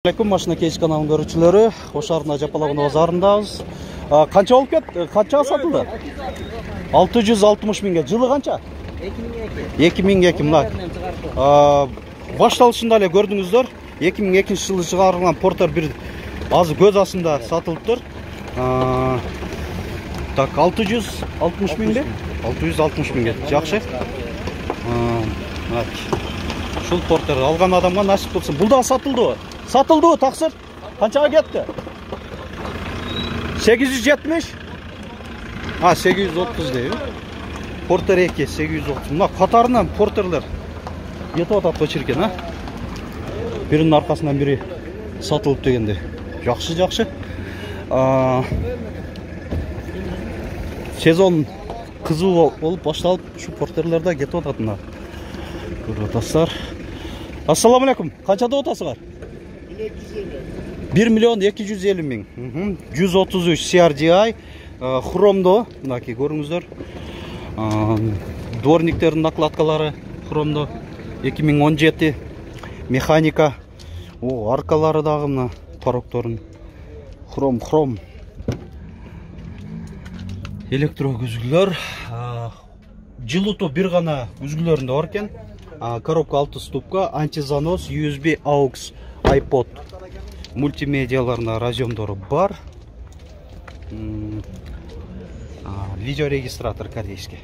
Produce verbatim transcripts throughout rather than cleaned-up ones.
Assalamualaikum, машина кейс каналынын көрүүчүлөрү. Ош шаарынын Жапалабын базарындабыз. Канча болуп кетти? Канчага сатылды? алты жүз алтымыш миңге. Жылы канча? эки миң эки. Мына. Башталышында эле көрдүңүздөр. эки миң экинчи жылы чыгарылган Портер бир азыр көз астында сатылыптыр. Так, алты жүз алтымыш миңге. алты жүз алтымыш миңге. Жакшы. Ушул Портер алган адамга насип болсун. Бул да сатылды. Satıldı taksir. Kançaga ketdi? sekiz yüz yetmiş. Ha, sekiz yüz otuz deyim. Porter iki, sekiz yüz otuz. Mına katarından porterler yetip atat koçirken ha. Birinin arkasından biri satılıp degende. Жақсы, жақсы. Sezon kızıl olup başlalıp şu porterlerde ketip atatına. Dostlar. Assalamu alaikum. Kançada otasılar? bir milyon iki yüz elli ming. yüz otuz üç C R D I хромдо, мынакей көрүңүздөр. Дворниктердин накладкалары хромдо. эки миң он жети механика. О, аркалары дагы мына порокторун хром хром. Электро күзгүлөр. Жылытуу бир гана күзгүлөрүндө бар экен. Коробка алты ступка, антизанос, ю эс би, aux, iPod. Мультимедиаларында разъемдору бар. Видеорегистратор корейский.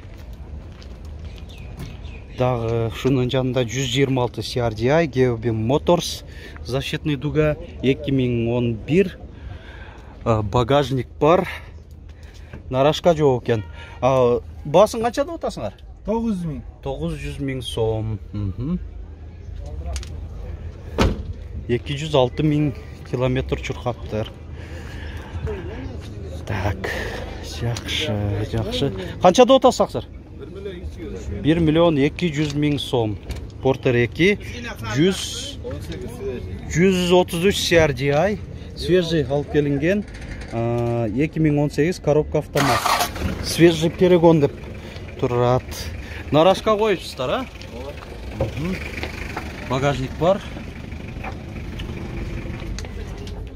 Дагы шунун жанында жүз жыйырма алты C R D I, Geobim Motors, защитный дуга, эки миң он бир. Багажник бар. Нарашка жок экен. Баасын канча деп атасыңар? тогуз жүз миң. тогуз жүз миң сом. эки жүз алты миң километр чуркаптыр. Так, жакшы, жакшы. Канча деп атасыңар? bir milyon iki yüz ming сом. Porter iki, yüz otuz üç C R D I, свежий алып келинген, эки миң он сегиз коробка автомат. Свежий перегон деп турат. Нарашка коюпсуздар, а? Багажник бар.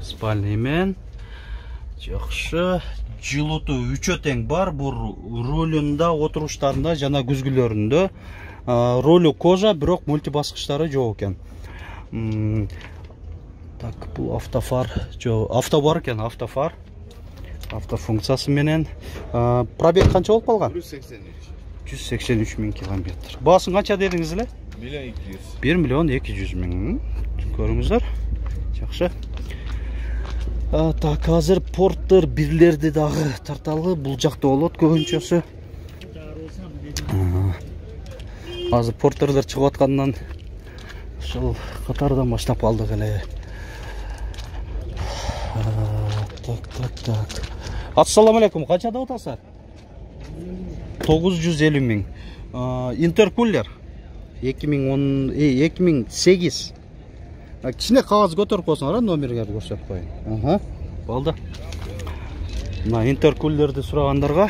Спальный мен. Жакшы. Жылытуу үчөө тең бар. Бул рулунда, отуруштарында жана күзгүлөрүндө. Ролу кожа, бирок мультибаскычтары жок экен. Так, бул автофар, жо, авто бар экен, автофар. Автофункциясы менен. Пробег канча болуп калган? жүз сексен үч миң километр. Баасын канча дедиңиз эле? bir milyon iki yüz mиң. Көрүңүздөр. Жакшы. Так, азыр Портер бирлерди дагы тарталы. Бул жакта болот көбүнчөсү. Азыр Портерлер чыгып аткандан ушул катардан баштап алдык эле. Так, так, так. Ассаламу алейкум. Канча деп атасыздар? тогуз жүз элүү миң. Интеркулер эки миң сегиз. Кичине кагаз көтөрүп койсоңор, номерге көрсөтүп коеюн. Аха. Болду. Мына интеркулерди сурагандарга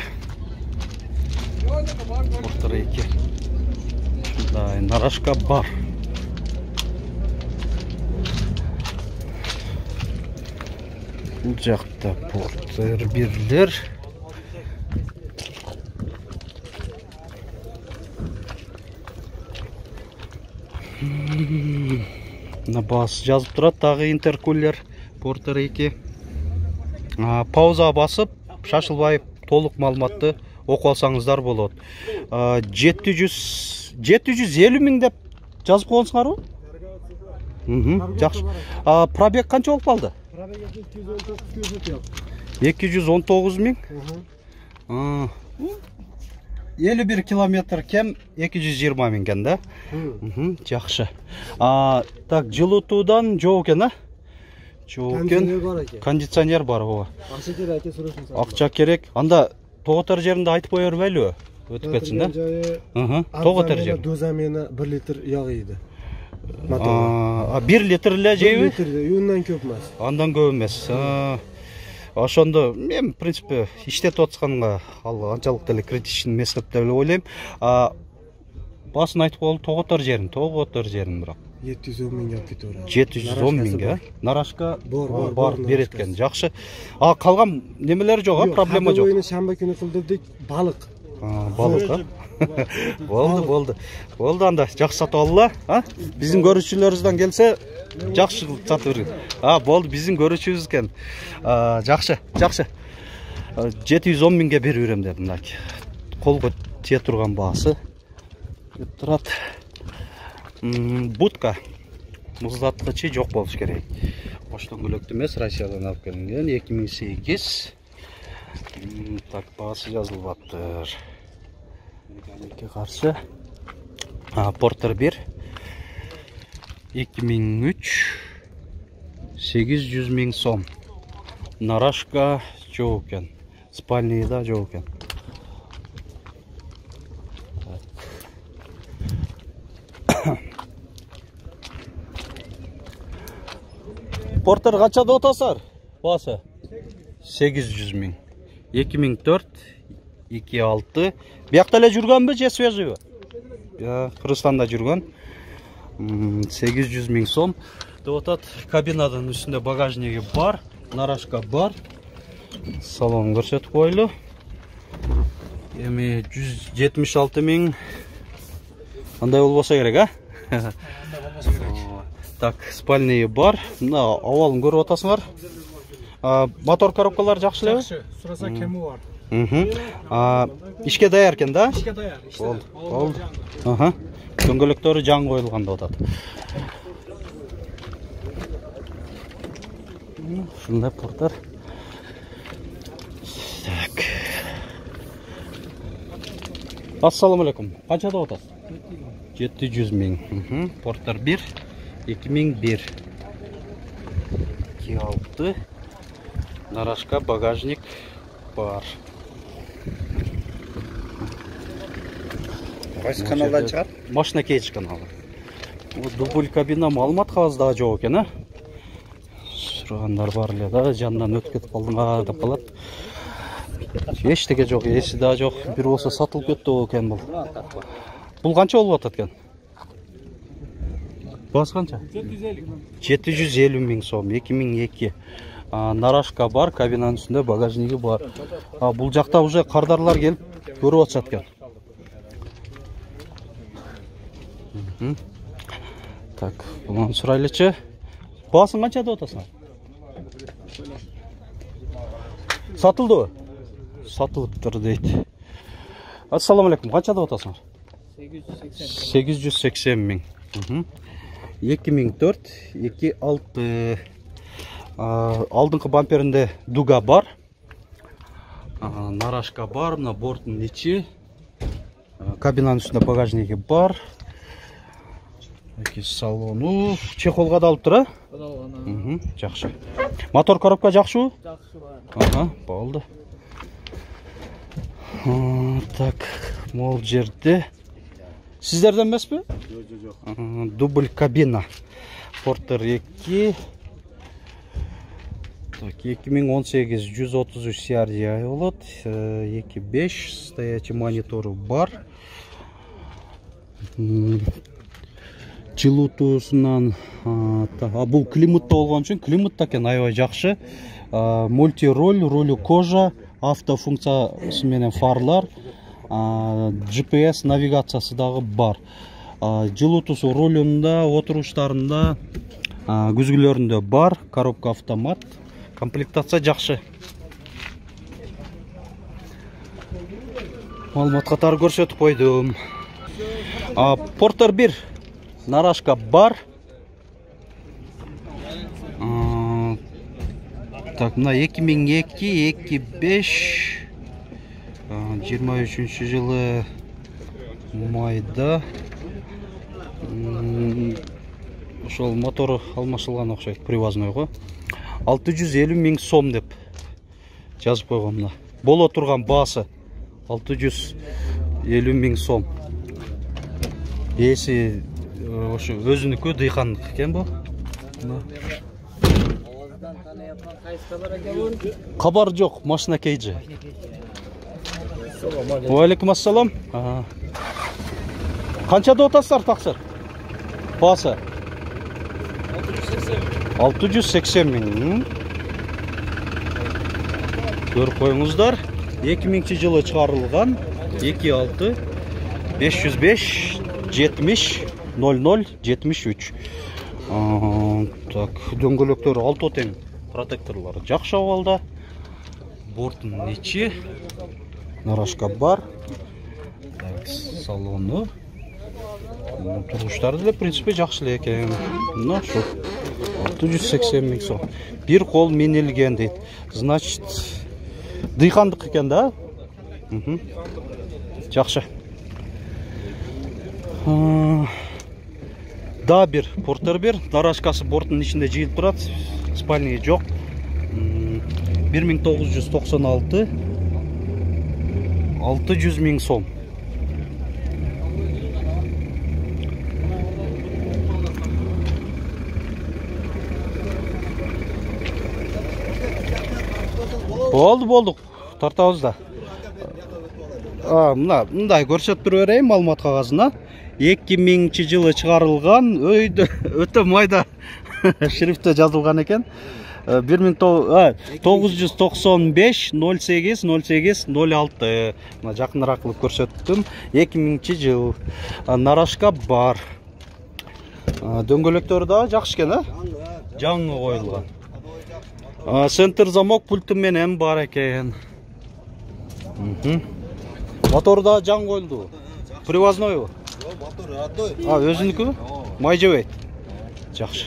Портер эки. Да, нарашка бар. Бул жакта Портер бирлер. На бас жазып турат, дагы интеркулер Портер эки. Пауза басып, шашылбай толук маалыматты окуп алсаңыздар болот. жети жүз элүү миң деп жазып койгонсуңарбы? Жакшы. Пробег канча болуп калды? эки жүз он тогуз миң. элүү бир километр кем, эки жүз жыйырма миң экен да. Жакшы. Так, жылытуудан жок экен, а? Жок экен. Кондиционер бар, ооба. Акча керек, сурашыңыз. Акча керек. Анда тоготор жеринде айтып кое бербейлиби? Өтүп кетсин да. Ага, тоготор жер. Дозамена bir литр ягы ийди. А, bir литр эле жейби? bir литр, ундан көп эмес. Андан көп эмес. Ошондо мен в принципе иштетип атканга ал анчалык деле критичный эмес деп эле ойлойм. Басын айтып коелу, тоготор жерин, тоготор жерин бирок. жети жүз он миңге алып кете берет. жети жүз он миңге. Нарашка Бар, бар, берет экен. Жакшы. А калган немелер жок, а проблема жок. Ойуну шамба күнү кылдырдык, балык. Балык, а? Болду, болду. Болду анда, жакшы сатып алла, а? Биздин көрүүчүлөрүбүздөн келсе, жакшы сатып берген. А, болду, биздин көрүүчүбүз экен. Жакшы, жакшы. жети жүз он миңге берип берем дедим, мынакей. Колго тие турган баасы. Кеп турат. Будка. Муздаткычы жок болуш керек. Ош дөңгөлөктүү эмес, Россиядан алып келинген, эки миң сегиз. Так, баасы жазылып аптыр. Механикке каршы. Портер бир. эки миң үч. сегиз жүз миң сом. Нарашка жок экен. Спальныйда жок экен. Портер канча деп атасыздар? Баасы сегиз жүз миң. эки миң төрт, эки алты. Биякта эле жүргөнбү, же свежийби? Кыргызстанда жүргөн. сегиз жүз миң сом. Деп атат, кабинадан үстүндө багажниги бар, нарашка бар. Салон көрсөтүп койлу. Эми жүз жетимиш алты миң. Андай болбосо керек, а? Андай болбосо керек. Так, спальный бар. Мына абалын көрүп атасыңар. Мотор коробкалар жакшы элеби? Жакшы, сураса кеми бар. Ишке даяр экен да? Ишке даяр. Болду. Аха. Дөңгөлөктөрү жаңы коюлган деп атат. Ушундай портер. Так. Ассаламу алейкум. Канча деп атасыз? жети жүз миң. Портер бир. эки миң бир. эки алты. Нарашка багажник бар. Кайсы каналдан чыгат? Машина кейдж каналы. Дубль кабина маалымат кагазда жок экен, а? Сурагандар бар эле да, жанынан өтүп кетип калдыңар деп калат. Эчтеке жок, эси да жок. Бир болсо сатылып кетти экен бул. Бул канча болуп атат экен? Баасы канча? жети жүз элүү миң сом, эки миң эки. Нарашка бар, кабинанын үстүндө багажниги бар. Бул жакта уже кардарлар келип көрүп атышат экен. Так, бунун сурайлычы. Баасын канча деп атасың? Сатылдыбы? Сатылыптыр дейт. Ассаламу алейкум. Канча деп атасың? сегиз жүз сексен миң. эки миң төрт, эки алты. Алдыңкы бамперинде дуга бар. Нарашка бар, мына борттун ичи. Кабинанын үстүндө багажниги бар. Эки салону чехолго да алып тур, а? Жакшы. Мотор коробка жакшыбы? Жакшы бар. Ага, болду. Так, могул жерде. Сиздерден эмеспи? Жок, жок. Дубль кабина. Портер эки. Так, эки миң он сегиз жүз отуз үч си ар ди ай болот. эки беш стоячий монитору бар. Жылуутуусунан бул климатта болгон үчүн климатта экен аябай жакшы. Мультироль, рулю кожа, автофункциясы менен фарлар, джи пи эс навигациясы дагы бар. Жылуутуусу рулунда, отуруштарында, күзгүлөрүндө бар, коробка автомат. Комплектация жакшы. Маалымат катары көрсөтүп койдум. Портер бир. Нарашка бар. Так, мына эки миң эки, эки беш, жыйырма үчүнчү жылы майда. Ошол мотору алмашылган окшойт, привозной. алты жүз элүү миң сом деп жазып койгон мына. Боло турган баасы алты жүз элүү миң сом. Эси ошо өзүнүкү дыйкандык экен бу. Кабар жок, машина кейджи. Ва алейкум ассалам. Канча деп атасыздар таксыр? Баасы алты жүз сексен миң. Көрүп коюңуздар. эки миңинчи жылы чыгарылган. эки алты беш жүз беш жетимиш ноль ноль жетимиш үч. Так, дөңгөлөктөр алты тең, протекторлор жакшы абалда. Борттун ичи нарашка бар. Так, салону. Тургучтары деле в принципе жакшы эле экен. Мына шу алты жүз сексен миң сом. Бир кол минилген дейт. Значит, дыйкандык экен да. Жакшы. Да бир портер бир, нарашкасы борттун ичинде жыйылып турат. Спальный жок. бир миң тогуз жүз токсон алты. алты жүз миң сом. Болду, болду. Тартабыз да. А, мына, мындай көрсөтүп берейин маалымат кагазына. эки миңинчи жылы чыгарылган, өйдө өтө майда шрифтте жазылган экен. бир миң тогуз жүз токсон беш ноль сегиз ноль сегиз ноль алты. Мына жакыныраак кылып көрсөттүм. эки миңинчи жыл. Нарашка бар. Дөңгөлөктөрү да жакшы экен, а? Жаңы коюлган. Центр замок пульты менен бар экен. Мотору да жаңы коюлду. Привознойбу? Мотор родной. А, өзүнүкү? Май жебейт. Жакшы.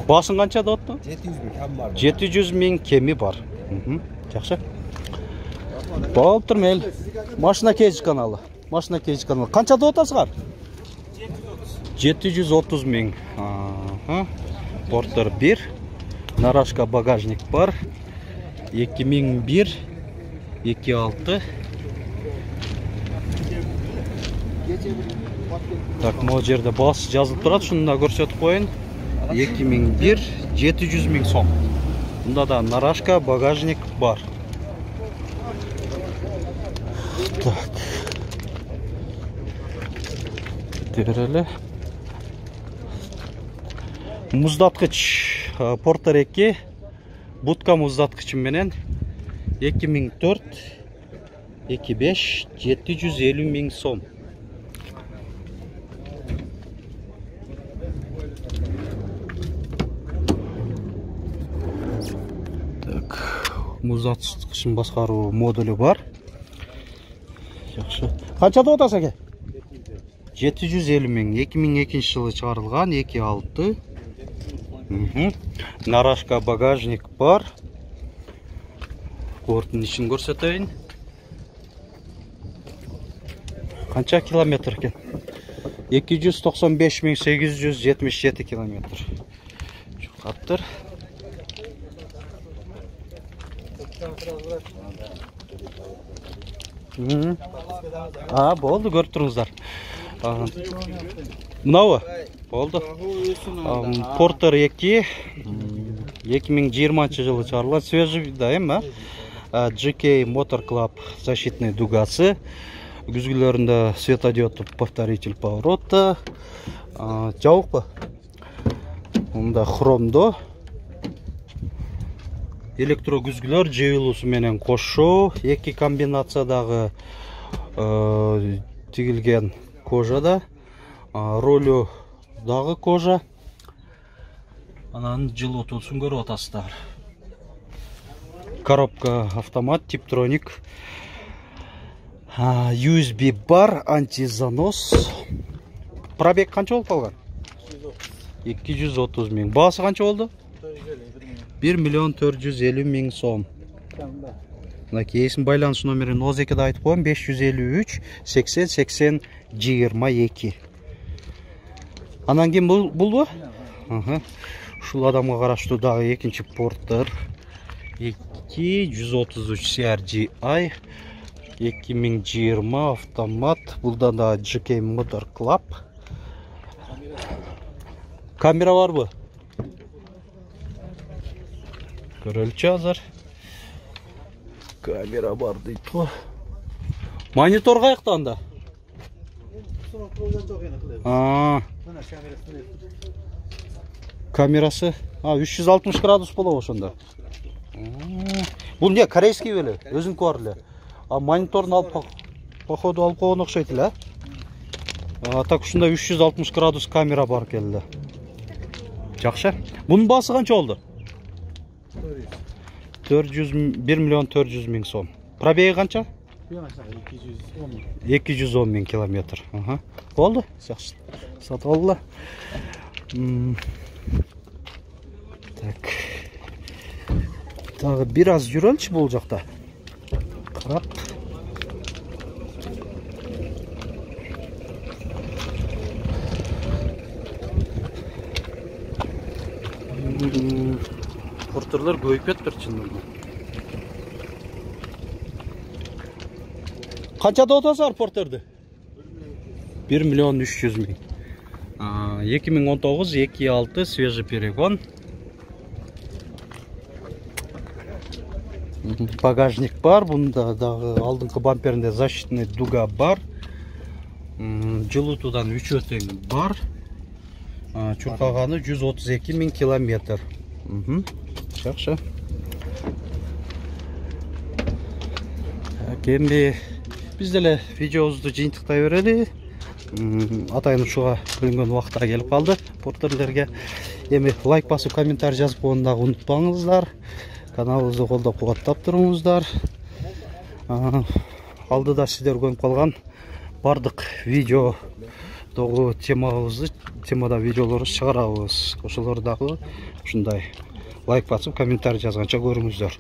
Баасын канча деп атты? жети жүз миң кем бар. жети жүз миң кеми бар. Жакшы. Болуп турмел. Машина кейж каналы. Машина кейж каналы. Канча деп атасыңар? жети жүз отуз миң. Портер бир. Нарашка багажник бар. эки миң бир эки алты. Так, могу жерде баасы жазылып турат, шуну да көрсөтүп коюн. эки миң бир жети жүз миң сом. Мында да нарашка багажник бар. Так. Береле. Муздаткыч Портер эки будка муздаткычы менен эки миң төрт эки беш жети жүз элүү миң сом. Муздаткычын баскаруу модулу бар. Жакшы. Канча деп атасың аке? жети жүз элүү миң. эки миң экинчи жылы чыгарылган, эки алты. Нарашка багажник бар. Борттун ичин көрсөтөйүн. Канча километр экен? эки жүз токсон беш миң сегиз жүз жетимиш жети километр. Каптыр. А, болду, көрүп туруңуздар. Мынабы? Болду. Портер эки эки миң жыйырманчы жылы чыгарылган, свежий да эми, а? джи кей Motor Club защитный дугасы. Күзгүлөрүндө светодиоддуу повторитель поворота. Жабыкпы? Мында хромдо. Электро күзгүлөр жыйылуусу менен кошо, эки комбинациядагы тигилген кожада, ролю дагы кожа. Анан жылытуусун көрүп атасыздар. Коробка автомат, типтроник. ю эс би бар, антизанос. Пробег канча болуп калган? эки жүз отуз миң. Баасы канча болду? бир миллион төрт жүз элүү миң сом. Мына кейсин байланыш номерин тогуз экиде айтып коем, беш жүз элүү үч сексен сексен жыйырма эки. Анан ким булбу? Ушул адамга караштуу дагы экинчи Портер эки жүз отуз үч си ар джи ай эки миң жыйырма автомат. Булда да джи кей Motor Club. Камера барбы? Көрөлчү азыр. Камера бар дейт го. Монитор каякта анда? камерасы а үч жүз алтымыш градус болобу ошондо. Бул не корейский беле, өзүнкү бар эле. А мониторун алып походу алып койгон окшойт эле. А так ушунда үч жүз алтымыш градус камера бар экен эле. Жакшы. Бунун баасы канча болду? төрт жүз бир миллион төрт жүз миң сом. Пробеги канча? эки жүз он миң километр. Ага. Болду. Жакшы. Сатып алды. Так. Дагы бир аз жүрөлчү бул жакта. Карап. Портерler көйүп кетиптир чындыгында. Канчада отосуңар портерди? бир миллион үч жүз миң. эки миң он тогуз эки алты свежий перегон. Багажник бар, бунда дагы алдыңкы бамперинде защитный дуга бар. Жылытуудан үч өтең бар. Чуркаганы жүз отуз эки миң километр. Жакшы. Кемби биз деле видеобузду жыйынтыктай берели. Атайын ушуга бөлүнгөн убакта келип калды портерлерге. Эми лайк басып, комментарий жазып койгонду дагы унутпаңыздар. Каналыбызды колдоп кубаттап туруңуздар. Алдыда сиздер көрүп калган бардык видеодогу темабызды, темада видеолорду чыгарабыз. Ошолор дагы ушундай лайк басып, комментарий жазганча көрүңүздөр.